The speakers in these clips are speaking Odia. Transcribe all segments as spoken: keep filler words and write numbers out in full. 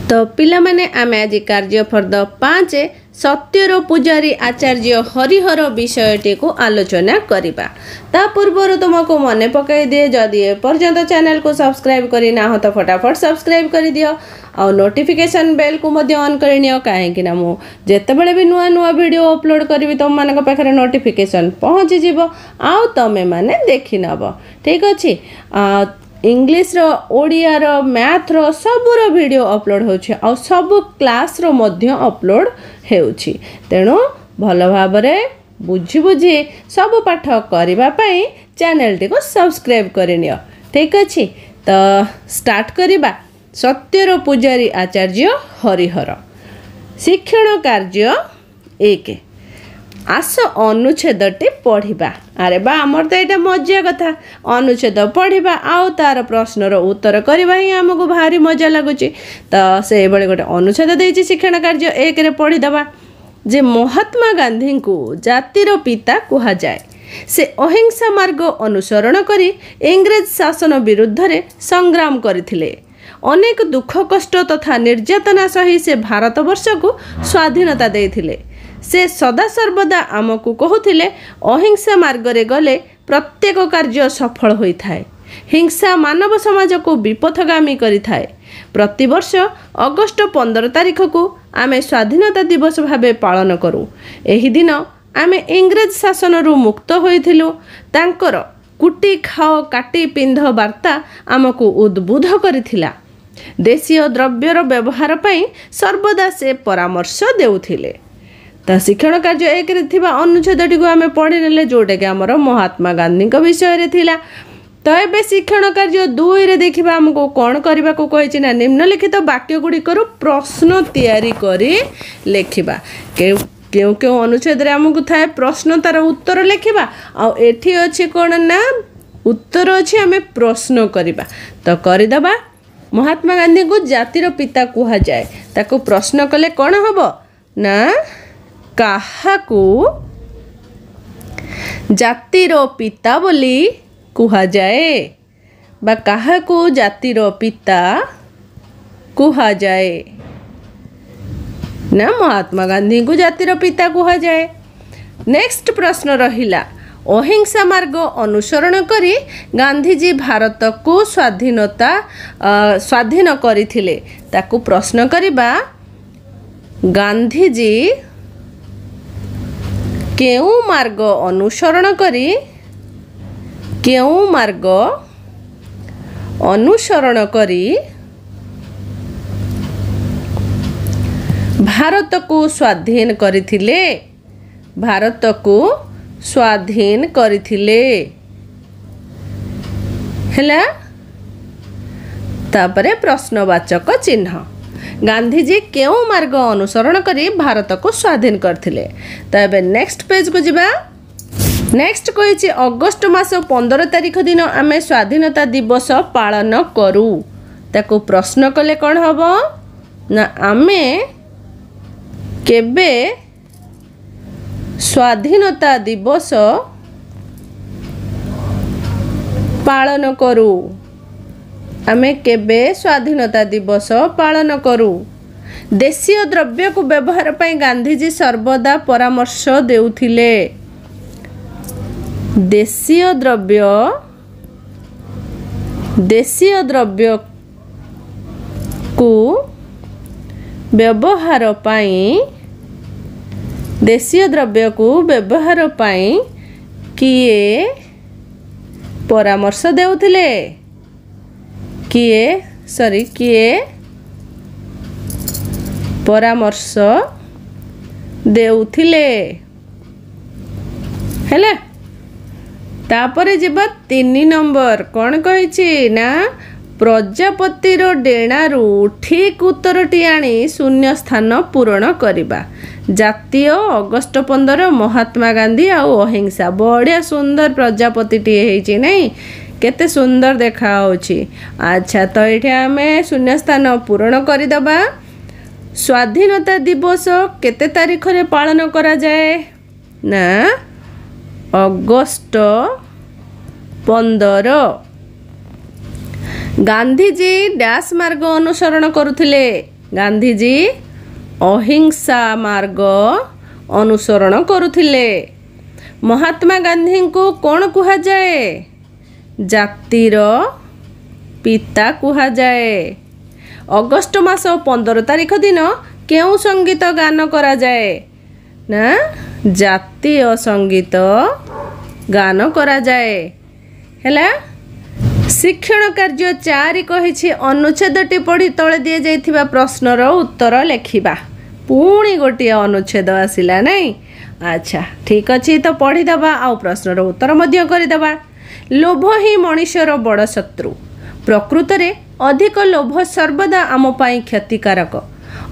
ତ ପିଲାମାନେ, ଆମେ ଆଜି କାର୍ଯ୍ୟ ଫର୍ଦ୍ଦ ପାଞ୍ଚ ସତ୍ୟର ପୂଜାରୀ ଆଚାର୍ଯ୍ୟ ହରିହର ବିଷୟଟିକୁ ଆଲୋଚନା କରିବା। ତା ପୂର୍ବରୁ ତୁମକୁ ମନେ ପକାଇ ଦିଏ, ଯଦି ଏପର୍ଯ୍ୟନ୍ତ ଚ୍ୟାନେଲକୁ ସବସ୍କ୍ରାଇବ୍ କରିନାହଁ ତ ଫଟାଫଟ ସବସ୍କ୍ରାଇବ୍ କରିଦିଅ ଆଉ ନୋଟିଫିକେସନ୍ ବେଲ୍କୁ ମଧ୍ୟ ଅନ୍ କରିନିଅ, କାହିଁକି ନା ମୁଁ ଯେତେବେଳେ ବି ନୂଆ ନୂଆ ଭିଡ଼ିଓ ଅପଲୋଡ଼ କରିବି, ତୁମମାନଙ୍କ ପାଖରେ ନୋଟିଫିକେସନ୍ ପହଞ୍ଚିଯିବ ଆଉ ତମେମାନେ ଦେଖିନେବ। ଠିକ୍ ଅଛି? ଇଂଲିଶର, ଓଡ଼ିଆର, ମ୍ୟାଥର ସବୁର ଭିଡ଼ିଓ ଅପଲୋଡ଼ ହେଉଛି ଆଉ ସବୁ କ୍ଲାସ୍ର ମଧ୍ୟ ଅପଲୋଡ଼ ହେଉଛି। ତେଣୁ ଭଲ ଭାବରେ ବୁଝି ବୁଝି ସବୁ ପାଠ କରିବା ପାଇଁ ଚ୍ୟାନେଲଟିକୁ ସବସ୍କ୍ରାଇବ୍ କରିନିଅ। ଠିକ୍ ଅଛି? ତ ଷ୍ଟାର୍ଟ କରିବା ସତ୍ୟର ପୂଜାରୀ ଆଚାର୍ଯ୍ୟ ହରିହର। ଶିକ୍ଷଣ କାର୍ଯ୍ୟ ଏକ, ଆସ ଅନୁଚ୍ଛେଦଟି ପଢ଼ିବା। ଆରେ ବା, ଆମର ତ ଏଇଟା ମଜା କଥା। ଅନୁଚ୍ଛେଦ ପଢ଼ିବା ଆଉ ତାର ପ୍ରଶ୍ନର ଉତ୍ତର କରିବା ହିଁ ଆମକୁ ଭାରି ମଜା ଲାଗୁଛି। ତ ସେଇଭଳି ଗୋଟେ ଅନୁଚ୍ଛେଦ ଦେଇଛି ଶିକ୍ଷଣ କାର୍ଯ୍ୟ ଏକରେ, ପଢ଼ିଦେବା ଯେ ମହାତ୍ମା ଗାନ୍ଧୀଙ୍କୁ ଜାତିର ପିତା କୁହାଯାଏ। ସେ ଅହିଂସା ମାର୍ଗ ଅନୁସରଣ କରି ଇଂରେଜ ଶାସନ ବିରୁଦ୍ଧରେ ସଂଗ୍ରାମ କରିଥିଲେ। ଅନେକ ଦୁଃଖ କଷ୍ଟ ତଥା ନିର୍ଯାତନା ସହି ସେ ଭାରତବର୍ଷକୁ ସ୍ୱାଧୀନତା ଦେଇଥିଲେ। ସେ ସଦାସର୍ବଦା ଆମକୁ କହୁଥିଲେ, ଅହିଂସା ମାର୍ଗରେ ଗଲେ ପ୍ରତ୍ୟେକ କାର୍ଯ୍ୟ ସଫଳ ହୋଇଥାଏ। ହିଂସା ମାନବ ସମାଜକୁ ବିପଥଗାମୀ କରିଥାଏ। ପ୍ରତିବର୍ଷ ଅଗଷ୍ଟ ପନ୍ଦର ତାରିଖକୁ ଆମେ ସ୍ୱାଧୀନତା ଦିବସ ଭାବେ ପାଳନ କରୁ। ଏହି ଦିନ ଆମେ ଇଂରେଜ ଶାସନରୁ ମୁକ୍ତ ହୋଇଥିଲୁ। ତାଙ୍କର କୁଟି ଖାଅ କାଟି ପିନ୍ଧ ବାର୍ତ୍ତା ଆମକୁ ଉଦ୍ବୁଦ୍ଧ କରିଥିଲା। ଦେଶୀୟ ଦ୍ରବ୍ୟର ବ୍ୟବହାର ପାଇଁ ସର୍ବଦା ସେ ପରାମର୍ଶ ଦେଉଥିଲେ। ତ ଶିକ୍ଷଣ କାର୍ଯ୍ୟ ଏକରେ ଥିବା ଅନୁଚ୍ଛେଦଟିକୁ ଆମେ ପଢ଼ିନେଲେ, ଯେଉଁଟାକି ଆମର ମହାତ୍ମା ଗାନ୍ଧୀଙ୍କ ବିଷୟରେ ଥିଲା। ତ ଏବେ ଶିକ୍ଷଣ କାର୍ଯ୍ୟ ଦୁଇରେ ଦେଖିବା ଆମକୁ କ'ଣ କରିବାକୁ କହିଛି ନା ନିମ୍ନଲିଖିତ ବାକ୍ୟ ଗୁଡ଼ିକରୁ ପ୍ରଶ୍ନ ତିଆରି କରି ଲେଖିବା। କେଉଁ କେଉଁ କେଉଁ ଅନୁଚ୍ଛେଦରେ ଆମକୁ ଥାଏ ପ୍ରଶ୍ନ, ତାର ଉତ୍ତର ଲେଖିବା, ଆଉ ଏଠି ଅଛି କ'ଣ ନା ଉତ୍ତର ଅଛି, ଆମେ ପ୍ରଶ୍ନ କରିବା। ତ କରିଦେବା। ମହାତ୍ମା ଗାନ୍ଧୀଙ୍କୁ ଜାତିର ପିତା କୁହାଯାଏ, ତାକୁ ପ୍ରଶ୍ନ କଲେ କ'ଣ ହେବ ନା କାହାକୁ ଜାତିର ପିତା ବୋଲି କୁହାଯାଏ ବା କାହାକୁ ଜାତିର ପିତା କୁହାଯାଏ ନା ମହାତ୍ମା ଗାନ୍ଧୀଙ୍କୁ ଜାତିର ପିତା କୁହାଯାଏ। ନେକ୍ସଟ ପ୍ରଶ୍ନ ରହିଲା, ଅହିଂସା ମାର୍ଗ ଅନୁସରଣ କରି ଗାନ୍ଧିଜୀ ଭାରତକୁ ସ୍ୱାଧୀନତା ସ୍ୱାଧୀନ କରିଥିଲେ। ତାକୁ ପ୍ରଶ୍ନ କରିବା, ଗାନ୍ଧିଜୀ କେଉଁ ମାର୍ଗ ଅନୁସରଣ କରି କେଉଁ ମାର୍ଗ ଅନୁସରଣ କରି ଭାରତକୁ ସ୍ୱାଧୀନ କରିଥିଲେ? ଭାରତକୁ ସ୍ୱାଧୀନ କରିଥିଲେ। ହେଲା, ତାପରେ ପ୍ରଶ୍ନବାଚକ ଚିହ୍ନ। ଗାନ୍ଧିଜୀ କେଉଁ ମାର୍ଗ ଅନୁସରଣ କରି ଭାରତକୁ ସ୍ୱାଧୀନ କରିଥିଲେ? ତ ଏବେ ନେକ୍ସଟ ପେଜକୁ ଯିବା। ନେକ୍ସଟ କହିଛି, ଅଗଷ୍ଟ ମାସ ପନ୍ଦର ତାରିଖ ଦିନ ଆମେ ସ୍ୱାଧୀନତା ଦିବସ ପାଳନ କରୁ। ତାକୁ ପ୍ରଶ୍ନ କଲେ କ'ଣ ହେବ ନା ଆମେ କେବେ ସ୍ୱାଧୀନତା ଦିବସ ପାଳନ କରୁ? ଆମେ କେବେ ସ୍ୱାଧୀନତା ଦିବସ ପାଳନ କରୁ? ଦେଶୀୟ ଦ୍ରବ୍ୟକୁ ବ୍ୟବହାର ପାଇଁ ଗାନ୍ଧିଜୀ ସର୍ବଦା ପରାମର୍ଶ ଦେଉଥିଲେ। ଦେଶୀୟ ଦ୍ରବ୍ୟ ଦେଶୀୟ ଦ୍ରବ୍ୟକୁ ବ୍ୟବହାର ପାଇଁ ଦେଶୀୟ ଦ୍ରବ୍ୟକୁ ବ୍ୟବହାର ପାଇଁ କିଏ ପରାମର୍ଶ ଦେଉଥିଲେ? କିଏ ସରି କିଏ ପରାମର୍ଶ ଦେଉଥିଲେ? ହେଲା, ତାପରେ ଯିବା ତିନି ନମ୍ବର। କ'ଣ କହିଛି ନା ପ୍ରଜାପତିର ଡେଣାରୁ ଠିକ୍ ଉତ୍ତରଟି ଆଣି ଶୂନ୍ୟ ସ୍ଥାନ ପୂରଣ କରିବା। ଜାତୀୟ, ଅଗଷ୍ଟ ପନ୍ଦର, ମହାତ୍ମା ଗାନ୍ଧୀ ଆଉ ଅହିଂସା। ବଢ଼ିଆ ସୁନ୍ଦର ପ୍ରଜାପତିଟିଏ ହେଇଛି ନାଇଁ? କେତେ ସୁନ୍ଦର ଦେଖାହେଉଛି। ଆଚ୍ଛା, ତ ଏଇଠି ଆମେ ଶୂନ୍ୟ ସ୍ଥାନ ପୂରଣ କରିଦେବା। ସ୍ୱାଧୀନତା ଦିବସ କେତେ ତାରିଖରେ ପାଳନ କରାଯାଏ ନା ଅଗଷ୍ଟ ପନ୍ଦର। ଗାନ୍ଧିଜୀ ଡ୍ୟାସ୍ ମାର୍ଗ ଅନୁସରଣ କରୁଥିଲେ। ଗାନ୍ଧିଜୀ ଅହିଂସା ମାର୍ଗ ଅନୁସରଣ କରୁଥିଲେ। ମହାତ୍ମା ଗାନ୍ଧୀଙ୍କୁ କ'ଣ କୁହାଯାଏ? ଜାତିର ପିତା କୁହାଯାଏ। ଅଗଷ୍ଟ ମାସ ପନ୍ଦର ତାରିଖ ଦିନ କେଉଁ ସଙ୍ଗୀତ ଗାନ କରାଯାଏ? ନା, ଜାତୀୟ ସଙ୍ଗୀତ ଗାନ କରାଯାଏ। ହେଲା। ଶିକ୍ଷଣ କାର୍ଯ୍ୟ ଚାରି କହିଛି, ଅନୁଚ୍ଛେଦଟି ପଢ଼ି ତଳେ ଦିଆଯାଇଥିବା ପ୍ରଶ୍ନର ଉତ୍ତର ଲେଖିବା। ପୁଣି ଗୋଟିଏ ଅନୁଚ୍ଛେଦ ଆସିଲା, ନାଇଁ? ଆଚ୍ଛା, ଠିକ୍ ଅଛି, ତ ପଢ଼ିଦେବା ଆଉ ପ୍ରଶ୍ନର ଉତ୍ତର ମଧ୍ୟ କରିଦେବା। ଲୋଭ ହିଁ ମଣିଷର ବଡ଼ ଶତ୍ରୁ। ପ୍ରକୃତରେ ଅଧିକ ଲୋଭ ସର୍ବଦା ଆମ ପାଇଁ କ୍ଷତିକାରକ।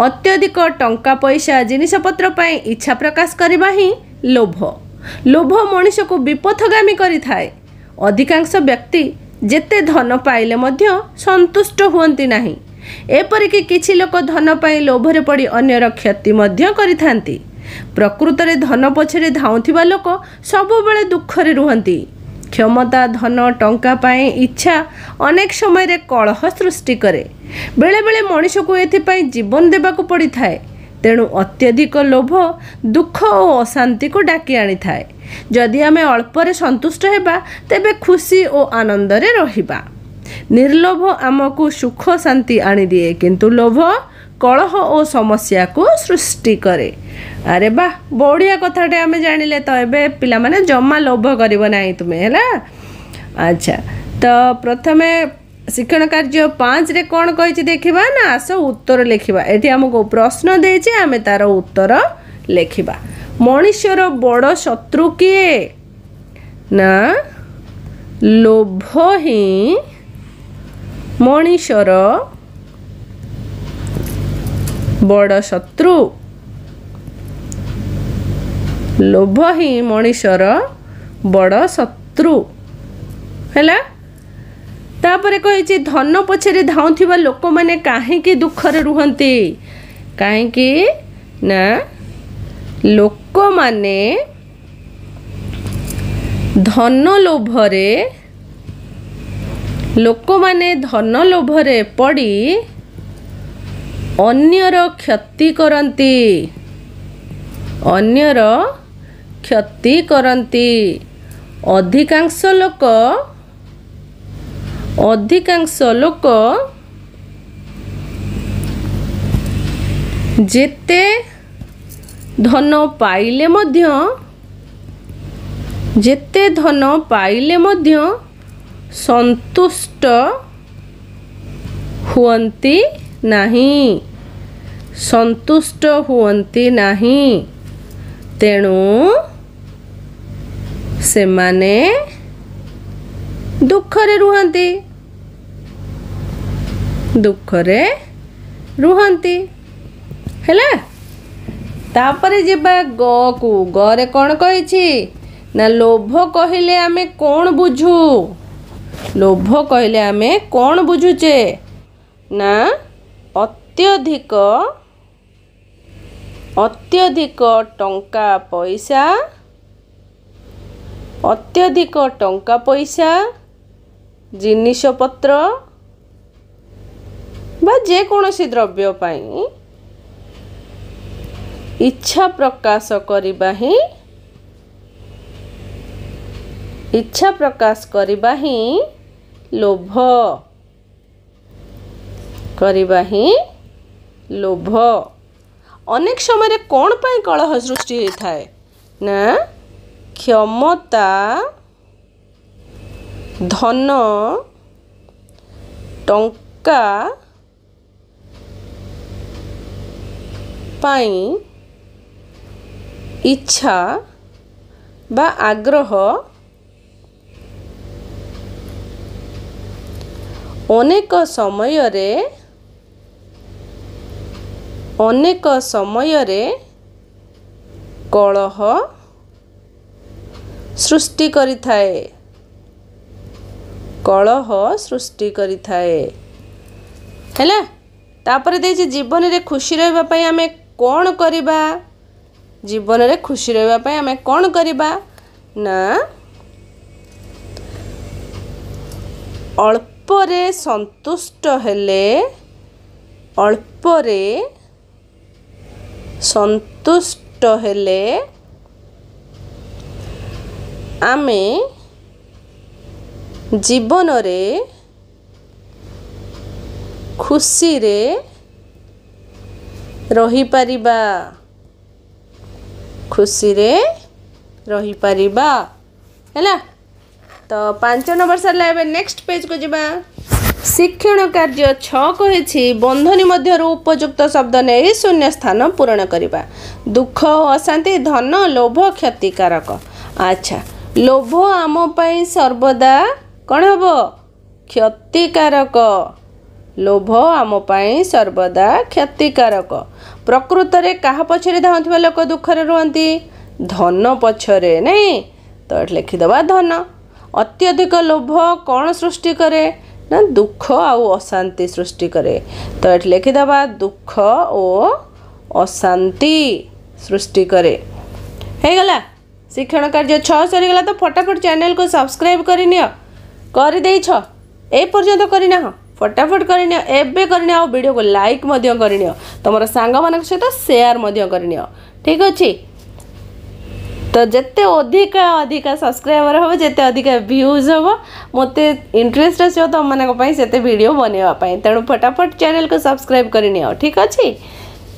ଅତ୍ୟଧିକ ଟଙ୍କା ପଇସା, ଜିନିଷପତ୍ର ପାଇଁ ଇଚ୍ଛା ପ୍ରକାଶ କରିବା ହିଁ ଲୋଭ। ଲୋଭ ମଣିଷକୁ ବିପଥଗାମୀ କରିଥାଏ। ଅଧିକାଂଶ ବ୍ୟକ୍ତି ଯେତେ ଧନ ପାଇଲେ ମଧ୍ୟ ସନ୍ତୁଷ୍ଟ ହୁଅନ୍ତି ନାହିଁ। ଏପରିକି କିଛି ଲୋକ ଧନ ପାଇଁ ଲୋଭରେ ପଡ଼ି ଅନ୍ୟର କ୍ଷତି ମଧ୍ୟ କରିଥାନ୍ତି। ପ୍ରକୃତରେ ଧନ ପଛରେ ଧାଉଁଥିବା ଲୋକ ସବୁବେଳେ ଦୁଃଖରେ ରୁହନ୍ତି। କ୍ଷମତା, ଧନ, ଟଙ୍କା ପାଇଁ ଇଚ୍ଛା ଅନେକ ସମୟରେ କଳହ ସୃଷ୍ଟି କରେ। ବେଳେବେଳେ ମଣିଷକୁ ଏଥିପାଇଁ ଜୀବନ ଦେବାକୁ ପଡ଼ିଥାଏ। ତେଣୁ ଅତ୍ୟଧିକ ଲୋଭ ଦୁଃଖ ଓ ଅଶାନ୍ତିକୁ ଡାକି ଆଣିଥାଏ। ଯଦି ଆମେ ଅଳ୍ପରେ ସନ୍ତୁଷ୍ଟ ହେବା, ତେବେ ଖୁସି ଓ ଆନନ୍ଦରେ ରହିବା। ନିର୍ଲୋଭ ଆମକୁ ସୁଖ ଶାନ୍ତି ଆଣିଦିଏ, କିନ୍ତୁ ଲୋଭ କଳହ ଓ ସମସ୍ୟାକୁ ସୃଷ୍ଟି କରେ। ଆରେ ବା, ବଢ଼ିଆ କଥାଟେ ଆମେ ଜାଣିଲେ। ତ ଏବେ ପିଲାମାନେ ଜମା ଲୋଭ କରିବ ନାହିଁ ତୁମେ, ହେଲା? ଆଚ୍ଛା, ତ ପ୍ରଥମେ ଶିକ୍ଷଣ କାର୍ଯ୍ୟ ପାଞ୍ଚରେ କ'ଣ କହିଛି ଦେଖିବା ନା ଆସ ଉତ୍ତର ଲେଖିବା? ଏଠି ଆମକୁ ପ୍ରଶ୍ନ ଦେଇଛି, ଆମେ ତାର ଉତ୍ତର ଲେଖିବା। ମଣିଷର ବଡ଼ ଶତ୍ରୁ କିଏ? ନା, ଲୋଭ ହିଁ ମଣିଷର ବଡ଼ ଶତ୍ରୁ। ଲୋଭ ହିଁ ମଣିଷର ବଡ଼ ଶତ୍ରୁ। ହେଲା। ତାପରେ କହିଛି, ଧନ ପଛରେ ଧାଉଁଥିବା ଲୋକମାନେ କାହିଁକି ଦୁଃଖରେ ରୁହନ୍ତି? କାହିଁକି ନା, ଲୋକମାନେ ଧନ ଲୋଭରେ ଲୋକମାନେ ଧନ ଲୋଭରେ ପଡ଼ି ଅନ୍ୟର କ୍ଷତି କରନ୍ତି। ଅନ୍ୟର କ୍ଷତି କରନ୍ତି। ଅଧିକାଂଶ ଲୋକ ଅଧିକାଂଶ ଲୋକ ଯେତେ ଧନ ପାଇଲେ ମଧ୍ୟ ଯେତେ ଧନ ପାଇଲେ ମଧ୍ୟ ସନ୍ତୁଷ୍ଟ ହୁଅନ୍ତି ନାହିଁ। ସନ୍ତୁଷ୍ଟ ହୁଅନ୍ତି ନାହିଁ। ତେଣୁ ସେମାନେ ଦୁଃଖରେ ରୁହନ୍ତି। ଦୁଃଖରେ ରୁହନ୍ତି। ହେଲା। ତାପରେ ଯିବା ଗକୁ। ଗରେ କ'ଣ କହିଛି ନା, ଲୋଭ କହିଲେ ଆମେ କ'ଣ ବୁଝୁ? ଲୋଭ କହିଲେ ଆମେ କ'ଣ ବୁଝୁଛେ? ନା, ଅତ୍ୟଧିକ ଅତ୍ୟଧିକ ଟଙ୍କା ପଇସା ଅତ୍ୟଧିକ ଟଙ୍କା ପଇସା, ଜିନିଷପତ୍ର ବା ଯେକୌଣସି ଦ୍ରବ୍ୟ ପାଇଁ ଇଚ୍ଛା ପ୍ରକାଶ କରିବା ହିଁ ଇଚ୍ଛା ପ୍ରକାଶ କରିବା ହିଁ ଲୋଭ। କରିବା ହିଁ ଲୋଭ। ଅନେକ ସମୟରେ କ'ଣ ପାଇଁ କଳହ ସୃଷ୍ଟି ହୋଇଥାଏ? ନା, କ୍ଷମତା, ଧନ, ଟଙ୍କା ପାଇଁ ଇଚ୍ଛା ବା ଆଗ୍ରହ ଅନେକ ସମୟରେ ଅନେକ ସମୟରେ କଳହ ସୃଷ୍ଟି କରିଥାଏ। କଳହ ସୃଷ୍ଟି କରିଥାଏ। ହେଲା। ତାପରେ ଦେଇଛି, ଜୀବନରେ ଖୁସି ରହିବା ପାଇଁ ଆମେ କ'ଣ କରିବା? ଜୀବନରେ ଖୁସି ରହିବା ପାଇଁ ଆମେ କ'ଣ କରିବା? ନା, ଅଳ୍ପରେ ସନ୍ତୁଷ୍ଟ ହେଲେ ଅଳ୍ପରେ ସନ୍ତୁଷ୍ଟ ହେଲେ ଆମେ ଜୀବନରେ ଖୁସିରେ ରହିପାରିବା ଖୁସିରେ ରହିପାରିବା ହେଲା ତ ପାଞ୍ଚ ନମ୍ବର ସରିଲା ଏବେ ନେକ୍ସଟ ପେଜକୁ ଯିବା ଶିକ୍ଷଣ କାର୍ଯ୍ୟ ଛଅ କହିଛି ବନ୍ଧନୀ ମଧ୍ୟରୁ ଉପଯୁକ୍ତ ଶବ୍ଦ ନେଇ ଶୂନ୍ୟ ସ୍ଥାନ ପୂରଣ କରିବା ଦୁଃଖ ଓ ଅଶାନ୍ତି ଧନ ଲୋଭ କ୍ଷତିକାରକ ଆଚ୍ଛା ଲୋଭ ଆମ ପାଇଁ ସର୍ବଦା କ'ଣ ହେବ କ୍ଷତିକାରକ ଲୋଭ ଆମ ପାଇଁ ସର୍ବଦା କ୍ଷତିକାରକ ପ୍ରକୃତରେ କାହା ପଛରେ ଧାଉଁଥିବା ଲୋକ ଦୁଃଖରେ ରୁହନ୍ତି ଧନ ପଛରେ ନାଇଁ ତ ଏଠି ଲେଖିଦେବା ଧନ ଅତ୍ୟଧିକ ଲୋଭ କ'ଣ ସୃଷ୍ଟି କରେ ନା ଦୁଃଖ ଆଉ ଅଶାନ୍ତି ସୃଷ୍ଟି କରେ ତ ଏଠି ଲେଖିଦେବା ଦୁଃଖ ଓ ଅଶାନ୍ତି ସୃଷ୍ଟି କରେ ହେଇଗଲା ଶିକ୍ଷଣ କାର୍ଯ୍ୟ ଛଅ ସରିଗଲା ତ ଫଟାଫଟ ଚ୍ୟାନେଲକୁ ସବସ୍କ୍ରାଇବ୍ କରିନିଅ କରିଦେଇଛ ଏ ପର୍ଯ୍ୟନ୍ତ କରିନାହ ଫଟାଫଟ କରିନିଅ ଏବେ କରିନିଅ ଆଉ ଭିଡ଼ିଓକୁ ଲାଇକ୍ ମଧ୍ୟ କରିନିଅ ତୁମର ସାଙ୍ଗମାନଙ୍କ ସହିତ ସେୟାର ମଧ୍ୟ କରିନିଅ ଠିକ୍ ଅଛି ତ ଯେତେ ଅଧିକା ଅଧିକା ସବସ୍କ୍ରାଇବର ହେବ ଯେତେ ଅଧିକା ଭ୍ୟୁଜ୍ ହେବ ମୋତେ ଇଣ୍ଟରେଷ୍ଟ ଆସିବ ତୁମମାନଙ୍କ ପାଇଁ ସେତେ ଭିଡ଼ିଓ ବନେଇବା ପାଇଁ ତେଣୁ ଫଟାଫଟ ଚ୍ୟାନେଲକୁ ସବସ୍କ୍ରାଇବ୍ କରିନିଅ ଠିକ୍ ଅଛି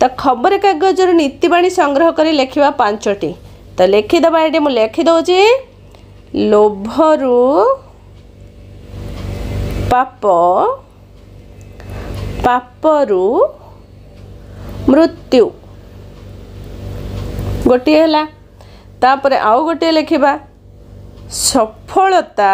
ତ ଖବରକାଗଜରୁ ନୀତିବାଣୀ ସଂଗ୍ରହ କରି ଲେଖିବା ପାଞ୍ଚଟି ତ ଲେଖିଦେବା ଏଠି ମୁଁ ଲେଖିଦେଉଛି ଲୋଭରୁ ପାପ ପାପରୁ ମୃତ୍ୟୁ ଗୋଟିଏ ହେଲା ତାପରେ ଆଉ ଗୋଟିଏ ଲେଖିବା ସଫଳତା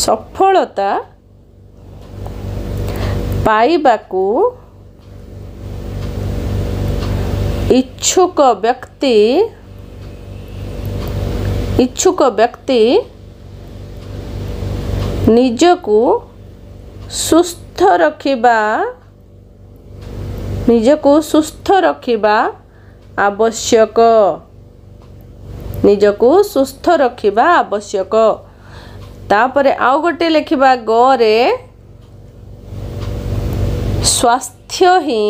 ସଫଳତା ପାଇବାକୁ ଇଚ୍ଛୁକ ବ୍ୟକ୍ତି ଇଚ୍ଛୁକ ବ୍ୟକ୍ତି ନିଜକୁ ସୁସ୍ଥ ରଖିବା ନିଜକୁ ସୁସ୍ଥ ରଖିବା ଆବଶ୍ୟକ ନିଜକୁ ସୁସ୍ଥ ରଖିବା ଆବଶ୍ୟକ ତାପରେ ଆଉ ଗୋଟେ ଲେଖିବା ଗରେ ସ୍ୱାସ୍ଥ୍ୟ ହିଁ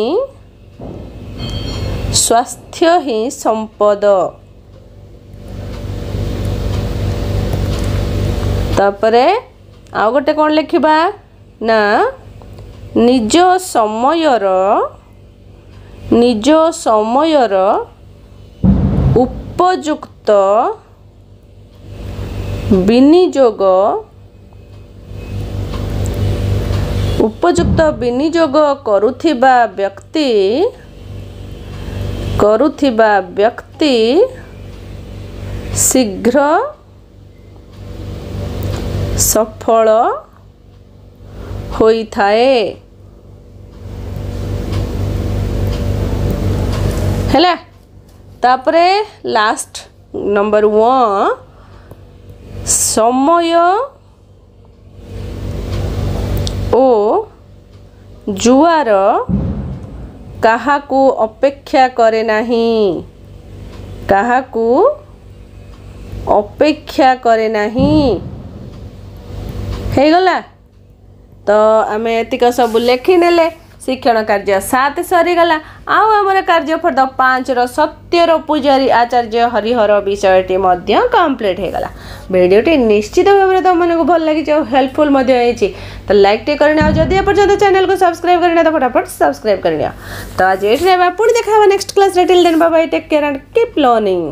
ସ୍ୱାସ୍ଥ୍ୟ ହିଁ ସମ୍ପଦ ତାପରେ ଆଉ ଗୋଟେ କ'ଣ ଲେଖିବା ନା ନିଜ ସମୟର ନିଜ ସମୟର ଉପଯୁକ୍ତ ବିନିଯୋଗ ଉପଯୁକ୍ତ ବିନିଯୋଗ କରୁଥିବା ବ୍ୟକ୍ତି କରୁଥିବା ବ୍ୟକ୍ତି ଶୀଘ୍ର ସଫଳ ହୋଇଥାଏ ହେଲା ତାପରେ ଲାଷ୍ଟ ନମ୍ବର ୱାନ୍ ସମୟ ଓ ଜୁଆର କାହାକୁ ଅପେକ୍ଷା କରେ ନାହିଁ କାହାକୁ ଅପେକ୍ଷା କରେ ନାହିଁ ହେଇଗଲା ତ ଆମେ ଏତିକ ସବୁ ଲେଖିନେଲେ ଶିକ୍ଷଣ କାର୍ଯ୍ୟ ସାତ ସରିଗଲା ଆଉ ଆମର କାର୍ଯ୍ୟ ଫର୍ଦ୍ଦ ପାଞ୍ଚର ସତ୍ୟର ପୂଜାରୀ ଆଚାର୍ଯ୍ୟ ହରିହର ବିଷୟଟି ମଧ୍ୟ କମ୍ପ୍ଲିଟ୍ ହେଇଗଲା ଭିଡ଼ିଓଟି ନିଶ୍ଚିତ ଭାବରେ ତୁମମାନଙ୍କୁ ଭଲ ଲାଗିଛି ଆଉ ହେଲ୍ପଫୁଲ୍ ମଧ୍ୟ ହେଇଛି ତ ଲାଇକ୍ ଟିକେ କରିନିଅ ଆଉ ଯଦି ଏପର୍ଯ୍ୟନ୍ତ ଚ୍ୟାନେଲକୁ ସବସ୍କ୍ରାଇବ୍ କରିନିଅ ତ ଫଟାଫଟ ସବସ୍କ୍ରାଇବ୍ କରିନିଅ ତ ଆଜି ଏଇଠି ରହିବା ପୁଣି ଦେଖା ହେବା ନେକ୍ସଟ କ୍ଲାସ୍ରେ till then bye take care and keep learning